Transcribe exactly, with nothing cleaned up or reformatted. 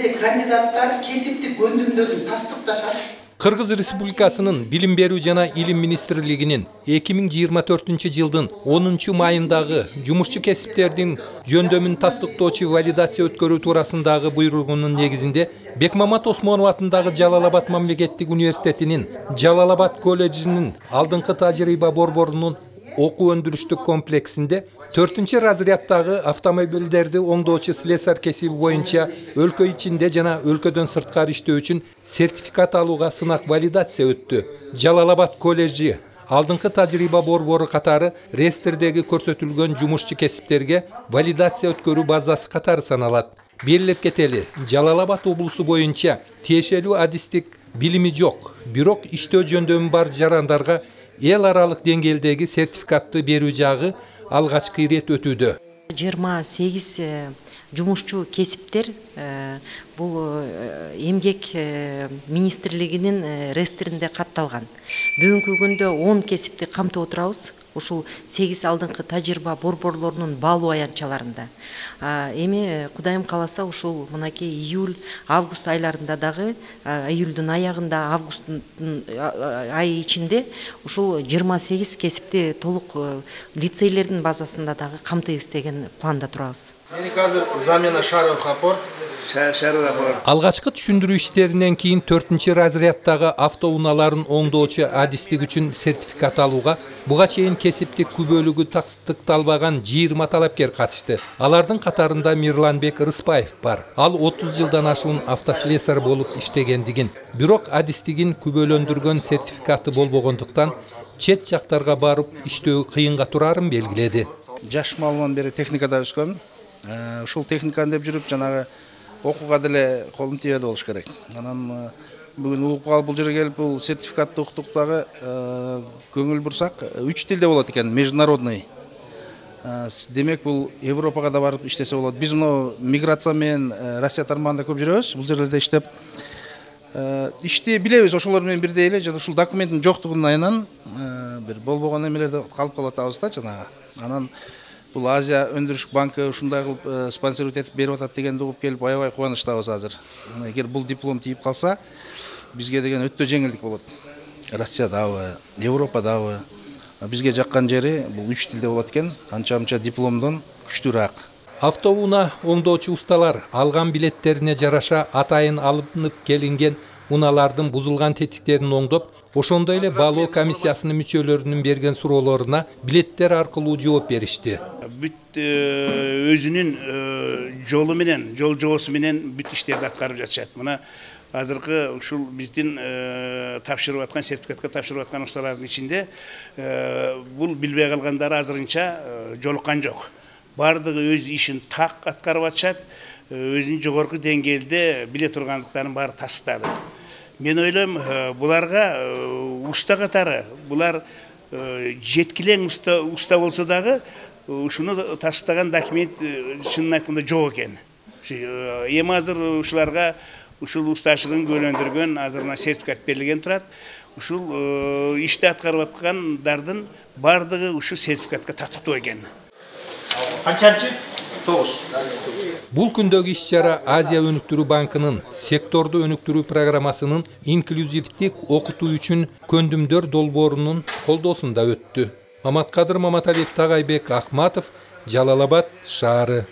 эле кандидаттар кесиптик көндүмдөрүн тастыкташат. Кыргыз Республикасынын Билим берүү жана Илим министрлигинин эки миң жыйырма төртүнчү жылдын онунчу майындагы жумушчу кесиптердин жөндөмүн тастыктоочу валидация өткөрүү туурасындагы буйругунун негизинде Бекмамат Осмонов атындагы Жалал Абад мамлекеттик университетинин Жалал Абад колледжинин алдыңкы тажрыйба борборунун окуу өндүрүштүк комплексинде төртүнчү разряддагы автомобилдерди оңдоочу слесарь кесиби боюнча өлкө ичинде жана өлкөдөн сырткары иштөө үчүн сертификат алууга сынак валидация өттү. Жалал Абад колледжи алдыңкы тажрыйба борбору катары реестрдеги көрсөтүлгөн жумушчу кесиптерге валидация өткөрүү базасы катары саналат. Белгилеп кетели, Жалал Абад облусу боюнча тиешелүү адистик билими жок, бирок иштөө жөндөмү бар жарандарга эл аралык деңгээлдеги сертификатты берүү жагы алгачкы ирет өтүүдө. жыйырма сегиз жумушчу кесиптер бул эмгек министрлигинин реестринде катталган. Бүгүнкү күндө он кесипти камтып отурабыз. Ушул сегиз алдыңкы тажрыйба борборлорунун баалуу аянтчаларында. Эми Кудайым кааласа ушул мынакей июль, август айларында дагы, июлдун аягында, августтун айы ичинде ушул жыйырма сегиз кесипти толук лицейлердин базасында дагы камтыйбыз деген планда турабыз. Меники азыр замена шаров опор. Алгачкы түшүндүрүү иштеринен кийин төртүнчү разряддагы автоунааларын оңдоочу адистик үчүн сертификат алууга буга чейин кесиптик күбөлүгү тастыкталбаган жыйырма талапкер катышты. Алардын катарында Мирланбек Рыспаев бар. Ал отуз жылдан ашуун автослесарь болуп иштегендигин, бирок адистигин күбөлөндүргөн сертификаты болбогондуктан чет жактарга барып иштөө кыйынга турарын белгиледи. Жаш малыман бери техникада өскөм. Ушул техниканы деп жүрүп жанагы окууга деле колум тийбеди болуш керек. Анан бүгүн угуп калып бул жерге келип бул сертификатты уктук дагы көңүл бурсак үч тилде болот экен, международный. Демек бул Европага да барып иштесе болот. Биз мына миграция менен Россия тармагында көп жүрөбүз. Бул жерлерде иштеп ишти билебиз, ошолор менен бирдей эле жана ушул документтин жоктугунун айынан бир болбогон эмелерде калып калып атабыз да жанагы. Анан бул Азия өндүрүш банкы ушундай кылып спонсордук этип берип атат дегенди угуп келип аябай кубанычтабыз азыр. Эгер бул диплом тийип калса, бизге деген өтө жеңилдик болот. Россиядабы, Европадабы бизге жаккан жери бул үч тилде болот экен, анча-мынча дипломдон күчтүүрөөк. Автоунаа оңдоочу усталар алган билеттерине жараша атайын алынып келинген унаалардын бузулган тетиктерин оңдоп, ошондой эле баалоо комиссиясынын мүчөлөрүнүн берген суроолоруна билеттер аркылуу жооп беришти. Бүт өзүнүн жолу менен, жол жоосу менен бүт иштерди аткарып жатышат. Мына азыркы ушул биздин тапшырып аткан сертификатка тапшырып аткан усталардын ичинде бул билбей калгандары азырынча жолуккан жок. Бардыгы өз ишин так аткарып атышат, өзүнүн жогорку деңгээлде биле тургандыктарын баары тастады. Мен ойлойм, буларга уста катары, булар жеткилең уста уста болсо дагы ушуну тастаган документ чынын айтканда жок экен. Эми азыр ушуларга ушул устачылыгын күбөлөндүргөн азырына сертификат берилген турат. Ушул ишти аткарып аткандардын бардыгы ушу сертификатка татыктуу экен. Канчанчы? тогуз. Бул күндөгү иш-чара Азия өнүктүрүү банкынын секторду өнүктүрүү программасынын инклюзивдик окутуу үчүн көндүмдөр долбоорунун колдоосунда өттү. Маматкадыр Маматалиев, Тагайбек Ахматов, Жалал Абад шаары.